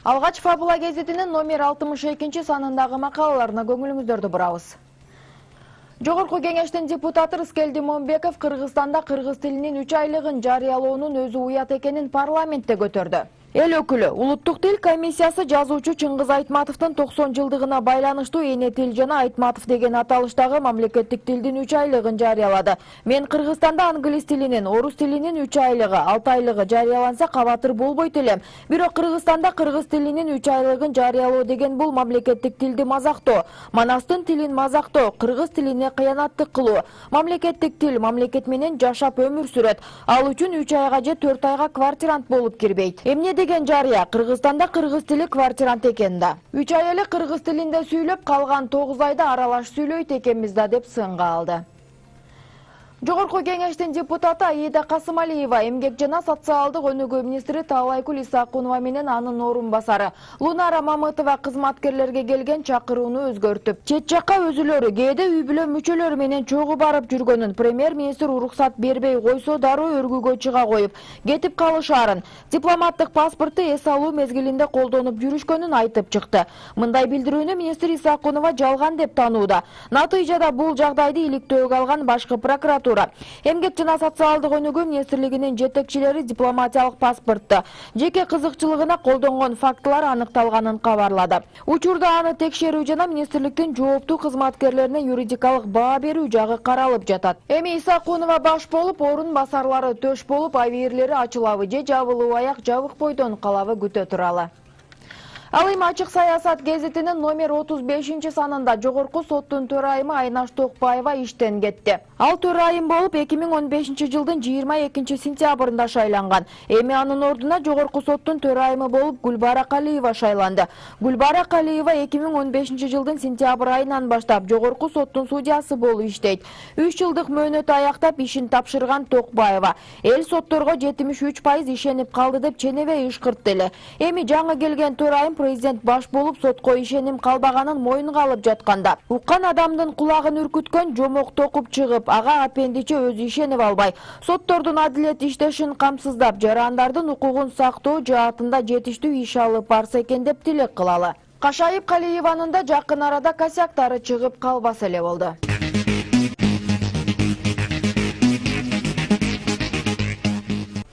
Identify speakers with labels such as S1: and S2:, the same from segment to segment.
S1: Алгач Фабула гезитинин номер 62 санындагы макалаларына көңүлүңүздөрдү бурабыз. Жогорку кеңештин депутаты Рыскелди Момбеков Кыргызстанда кыргыз тилинин 3 айлыгын жарыялоонун өзү уят экенин парламентте көтөрдү. Эл өкүлү Улуттук тил комиссиясы жазуучу Чыңгыз Айтматовдун 90 жылдыгына байланыштуу эне тил жана Айтматов деген аталыштагы мамлекеттик тилдин 3 айлыгын жарыялады. Мен Кыргызстанда англис тилинин, орус тилинин 3 айлыгы, 6 айлыгы жарыяланса кабатыр болбойт элем. Бирок Кыргызстанда кыргыз тилинин 3 айлыгын жарыялоо деген бул мамлекеттик тилди мазактоо, манастын тилин мазактоо, кыргыз тилине кыянаттык кылуу. Мамлекеттик тил мамлекет менен жашап өмүр сүрөт. Ал үчүн 3 айга же 4 айга квартирант болуп кирбейт. Эмне деген жарыя Кыргызстанда кыргыз тили квартирант экен да. 3 ай эле кыргыз тилинде сүйлөп, калган 9 айда аралаш сүйлөйт экенбиз да деп сынга алды. Жогорку кеңештин депутаты Аида Касымалиева эмгек жана социалдык өнүгүү министри Таалайкүл Исакунова менен анын орун басары Лунара Мамытова кызматкерлерге келген чакырууну өзгөртүп, чет жакка өзүлөрү кээде үй бүлө мүчөлөрү менен чогуу барып жүргөнүн премьер-министр уруксат бербей койсо дароо өргүүгө чыга коюп, кетип калышаарын, дипломаттык паспорту эс алуу мезгилинде колдонуп жүрүшкөнүн айтып чыкты. Мындай билдирүүнү министр Исакунова жалган деп таанууда. Натыйжада бул жагдайды иликтөөгө алган башкы прокуратура Эмгек жана социалдык өнүгүү министрлигинин жетекчилери дипломатиялык паспортто жеке кызыкчылыгына колдонгон фактылар аныкталганын кабарлады. Учурда аны текшерүү жана министрликтин жооптуу кызматкерлерине юридикалык баа берүү жагы каралып жатат. Эми Исакунова баш болуп, орун басарлары төш болуп, абийирлери ачылабы же жабылуу аяк жабык бойдон калабы күтө туралы. Ал эми Ачык саясат гезитинин номер 35 санында жогорку соттун төрайымы Айнаш Токпаева иштен кетти. Ал төрайым болуп 2015 жылдын 22 сентябрында шайланган. Эми анын ордуна жогорку соттун төрайымы болуп Гүлбара Калиева шайланды. Гүлбара Калиева 2015 жылдын сентябрь айынан баштап жогорку соттун судьясы болуп иштейт. 3 жылдык мөөнөтү аяктап ишин тапшырган Токпаева эл сотторго 73% ишенип калды деп ченебей ышкыртты эле. Эми жаңы келген төрайым президент баш болуп сотко ишеним калбаганын моюнга алып жатканда, уккан адамдын кулагын үркүткөн жомок токуп чыгып, ага апендиче өзү ишенип албай, соттордун адилет иштешин камсыздап, жарандардын укугун сактоо жаатында жетиштүү иш алып барса экен деп тилек кылалы. Кашайып Калиеванын да жакын арада косяктары чыгып калбаса эле болду.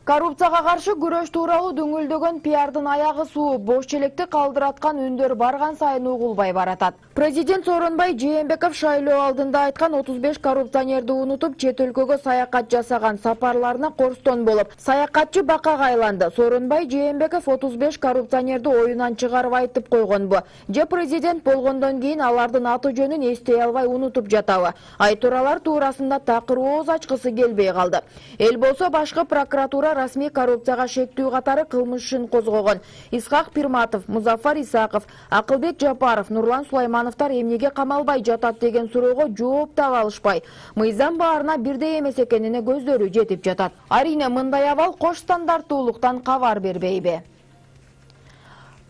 S1: Коррупцияга каршы күрөш тууралуу дөңгөлдөгөн пиардын аягы суу, бош челекти калдыраткан үндөр барган сайын угулбай баратат. Президент Сооронбай Жээнбеков шайлоо алдында айткан 35 коррупционерди унутуп, чет өлкөгө саякат жасаган сапарларына корстон болуп, саякатчы бакага айланды. Сооронбай Жээнбеков 35 коррупционерди оюнан чыгарып айтып койгонбу? Же президент болгондон кийин алардын аты жөнүн эстей албай унутуп жатабы? Айтуралар туурасында такыр ооз ачкысы келбей калды. Эл болсо башкы прокуратура расмий коррупцияга шектүү катары кылмыш ишин козгогон. Исхак Пирматов, Музафар Исаков, Акылбек Жапаров, Нурлан Сулаймановтар эмнеге камалбай жатат деген суроого жооп таба алышпай, мыйзам баарына бирдей эмес экенине көздөрү жетип жатат. Арине мындай абал кош стандарттуулуктан кабар бербейби?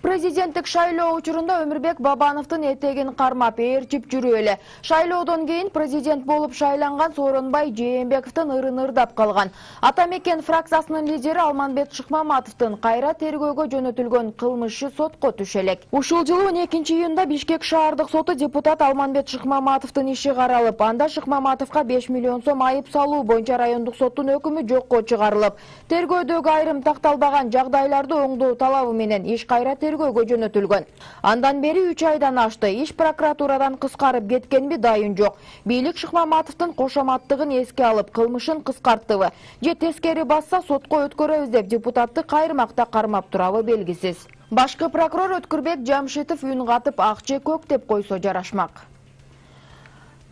S1: Президенттик шайлоо учурунда Өмүрбек Бабановдун этегин кармап ээрчип жүрүп эле. Шайлоодон кийин президент болуп шайланган Сооронбай Жээнбековдун ырын ырдап калган. Ата мекен фракциясынын лидери Алманбет Шыкмаматовдун кайра тергөөгө жөнөтүлгөн кылмыш иши сотко түшө элек. Ушул жылы 12 июнда Бишкек шаардык соту депутат Алманбет Шыкмаматовдун иши каралып, анда Шыкмаматовго 5 миллион сом айып салуу боюнча райондук соттун өкүмү жокко чыгарылып, тергөөдөгү айрым такталбаган жагдайларды оңдоо талабы менен иш кайра тергөөгө жөнөтүлгөн. Андан бери 3 айдан ашты. Иш прокуратурадан кыскарып кеткенби дайын жок. Бийлик Шыкмаматовдун кошоматтыгын эске алып, кылмышын кыскарттыбы же тескери басса сотко өткөрөбүз деп депутатты кайрымакта кармап турабы белгисиз. Башкы прокурор Өткүрбек Жамшитов үн катып ак же көк деп койсо жарашмак.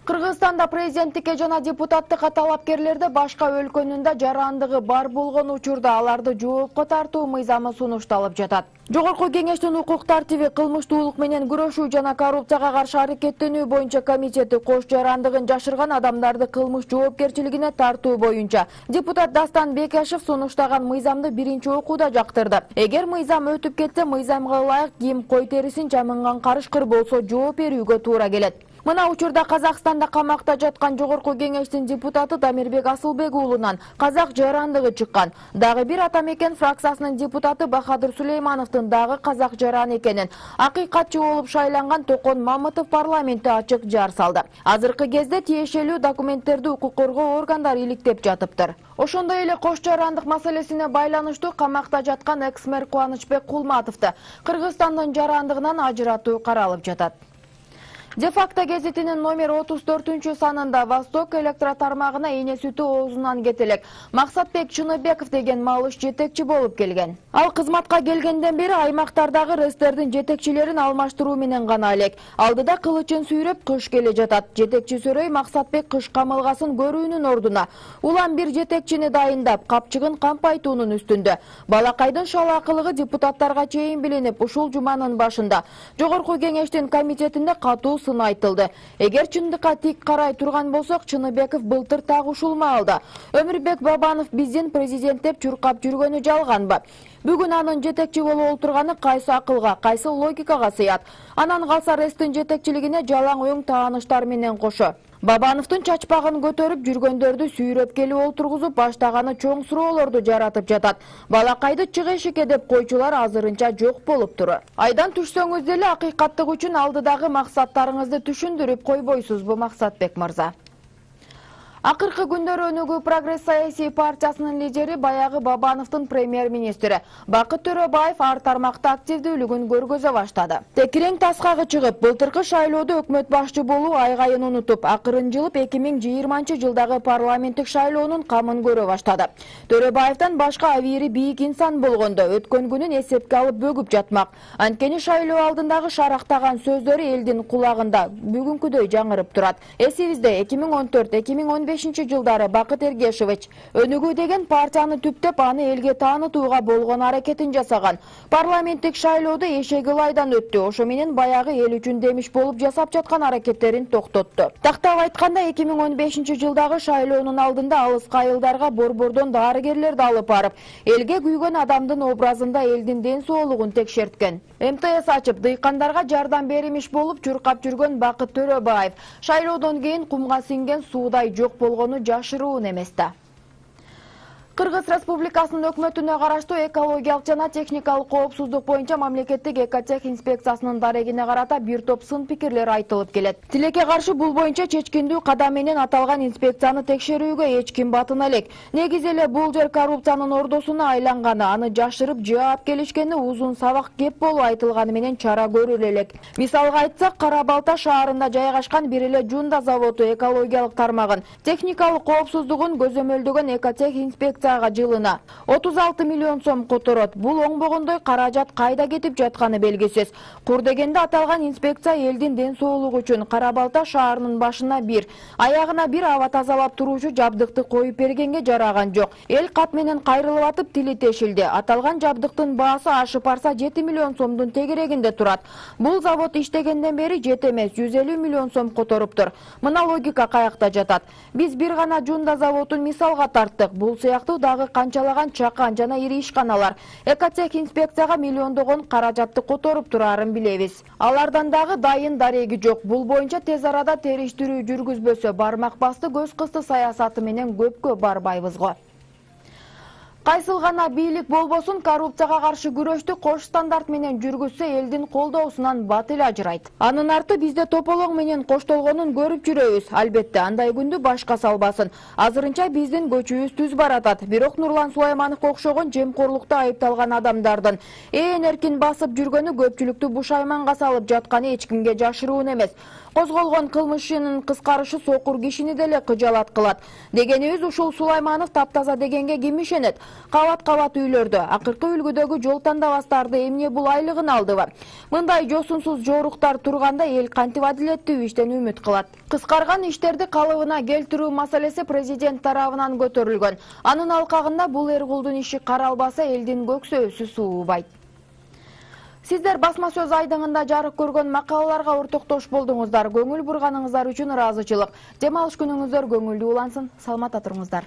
S1: Кыргызстанда президенттикке жана депутаттыкка талапкерлерди башка өлкөнүн да жарандыгы бар болгон учурда аларды жоопко тартуу мыйзамы сунушталып жатат. Жогорку кеңештин укук тартиби, кылмыштуулук менен күрөшүү жана коррупцияга каршы аракеттенүү боюнча комитети кош жарандыгын жашырган адамдарды кылмыш жоопкерчилигине тартуу боюнча депутат Дастан Бекешев сунуштаган мыйзамды биринчи окууда жактырды. Эгер мыйзам өтүп кетсе, мыйзамга ылайык ким кой терисин жамынган карышкыр болсо жооп берүүгө туура келет. Мына учурда Казакстанда камакта жаткан Жогорку Кеңештин депутаты Дамирбек Асылбек уулунан казак жарандыгы чыккан. Дагы бир Атамекен фракциясынын депутаты Бахадыр Сулеймановдун дагы казак жаран экенин акыйкатчы болуп шайланган Токон Мамытов парламентте ачык жар салды. Азыркы кезде тиешелүү документтерди укук коргоо органдары иликтеп жатыптыр. Ошондой эле кош жарандык маселесине байланыштуу камакта жаткан экс-мэр Кубанычбек Кулматовду Кыргызстандын жарандыгынан ажыратуу каралып жатат. Де-факто гезитинин номер 34 санында Восток электро тармагына эне сүтү оозунан кетелек Максатбек Чыныбеков деген малыш жетекчи болуп келген. Ал кызматка келгенден бери аймактардагы РЭСтердин жетекчилерин алмаштыруу менен гана элек. Алдыда кылычын сүйрөп кыш келе жатат. Жетекчи Сөрөй Максатбек кыш камылгасын көрүүнүн ордуна улам бир жетекчини дайындап, капчыгын кампайтуунун үстүндө. Балакайдын шалаакылыгы депутаттарга чейин билинип, ушул жуманын башында Жогорку Кеңештин комитетинде катуу сын айтылды. Эгер чындыкка тик карай турган болсок, Чыныбеков былтыр так ушул маалда Өмүрбек Бабанов биздин президент деп чуркап жүргөнү жалганбы? Бүгүн анын жетекчи болуп отурганы кайсы акылга, кайсы логикага сыят? Анан калса РЭСтин жетекчилигине жалаң оң тааныштар менен кошо Бабановдун чачпагын көтөрүп жүргөндөрдү сүйрөп келип олтургузуп баштаганы чоң суроолорду жаратып жатат. Балакайды чык эшикке деп койчулар азырынча жок болуптур. Айдан түшсөңүз деле акыйкаттык үчүн алдыдагы максаттарыңызды түшүндүрүп койбойсузбу, Максатбек мырза? Акыркы күндөр Өнүгүү Прогресс саясий партиясынын лидери баягы Бабановдун премьер-министри Бакыт Төрөбаев ар тармакта активдүүлүгүн көргөзө баштады. Текирең таскагы чыгып, былтыркы шайлоодо өкмөт башчы болуу айгайын унутуп, акырын жылып 2020-жылдагы парламенттик шайлоонун камын көрө баштады. Төрөбаевден башка авири бийик инсан болгондо өткөн күнүн эсепке алып бөгүп жатмак. Анткени шайлоо алдындагы шарактаган сөздөрү элдин кулагында бүгүнкүдөй жаңырып турат. Эсибизде 2014-2015 жылдары Бакыт Эргешевич Өнүгүү деген партияны түптөп, аны элге таанытууга болгон аракетин жасаган. Парламенттик шайлоодо эшеги ылайдан өттү. Ошо менен баягы эл үчүн демиш болуп жасап жаткан аракеттерин токтотту. Тактап айтканда 2015 жылдагы шайлоонун алдында алыска айылдарга борбордон дарыгерлерди алып барып, элге күйгөн адамдын образында элдин ден соолугун текшерткен. МТС ачып, дыйкандарга жардам беримиш болуп чуркап жүргөн Бакыт Төрөбаев шайлоодон кийин кумга сиңген суудай жок болгону жашыруун эмес да. Кыргыз Республикасынын өкмөтүнө караштуу экологиялык жана техникалык коопсуздук боюнча мамлекеттик экотех инспекциясынын дарегине карата бир топ сын пикирлер айтылып келет. Тилекке каршы бул боюнча чечкиндүү кадам менен аталган инспекцияны текшерүүгө эч ким батына элек. Негизи эле бул жер коррупциянын ордосуна айланганы, аны жашырып жаап келишкени узун сабак кеп болуп айтылганы менен чара көрүлө элек. Мисалга айтсак, Кара Балта шаарында жайгашкан бир эле Жунда заводу экологиялык тармагын, техникалык коопсуздугун көзөмөлдөгөн экотех инспекция жылына 36 миллион сом которот. Бул оңбогондой каражат кайда кетип жатканы белгисиз. Кур дегенде аталган инспекция элдин ден соолугу үчүн Кара Балта шаарынын башына бир, аягына бир аба тазалап туруучу жабдыкты коюп бергенге жараган жок. Эл кат менен кайрылып атып тили тешилди. Аталган жабдыктын баасы ашып барса 7 миллион сомдун тегерегинде турат. Бул завод иштегенден бери 7 эмес 150 миллион сом которуптур. Мына логика каякта жатат. Биз бир гана Жунда заводун мисалга тарттык. Бул сыяктуу дагы канчалаган чакан жана ири ишканалар экотех инспекцияга миллиондогон каражатты которуп турарын билебиз. Алардан дагы дайын дареги жок. Бул боюнча тез арада териштирүү жүргүзбөсө бармак басты көз кысты саясаты менен көпкө барбайбыз го. Кайсыл гана бийлик болбосун, коррупцияга каршы күрөштү кош стандарт менен жүргүзсө элдин колдоосунан бат эле ажырайт. Анын арты бизде тополоң менен коштолгонун көрүп жүрөбүз. Албетте, андай күндү башка салбасын. Азырынча биздин көчүбүз түз баратат. Бирок Нурлан Сулаймановго окшогон жемкорлукта айыпталган адамдардын эркин басып жүргөнү көпчүлүктү бушайманга салып жатканы эч кимге жашыруун эмес. Козголгон кылмышынын кыскарышы сокур кишини деле кыжалат кылат. Дегенибиз, ушул Сулайманов таптаза дегенге ким ишенет? Кабат-кабат үйлөрдө, акыркы үлгүдөгү жол тандабастарды эмне бул айлыгын алдыбы? Мындай жосунсуз жоруктар турганда эл кантип адилеттүү иштен үмүт кылат? Кыскарган иштерди калыбына келтирүү маселеси президент тарабынан көтөрүлгөн. Анын алкагында бул эргулдун иши каралбаса элдин көксөөсү суубайт. Сиздер басма сөз айдыңында жарык көргөн макалаларга ортоктош болдуңуздар. Көңүл бурганыңыздар үчүн ыраазычылык. Дем алыш күнүңүздөр көңүлдүү улансын. Саламатта туруңуздар.